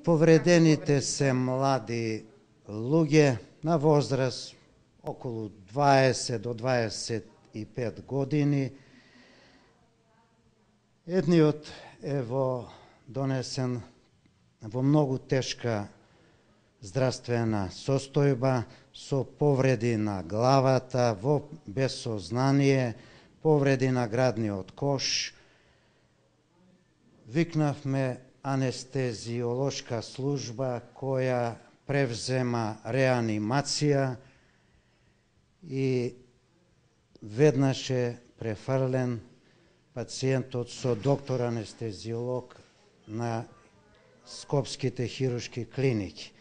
Повредените се млади луѓе на возраст околу 20 до 25 години. Едниот е донесен во многу тешка здравствена состојба, со повреди на главата, без сознание, повреди на градниот кош. Викнавме анестезиолошка служба која превзема реанимација и веднаш е префрлен пациентот со доктор анестезиолог на Скопските хируршки клиники.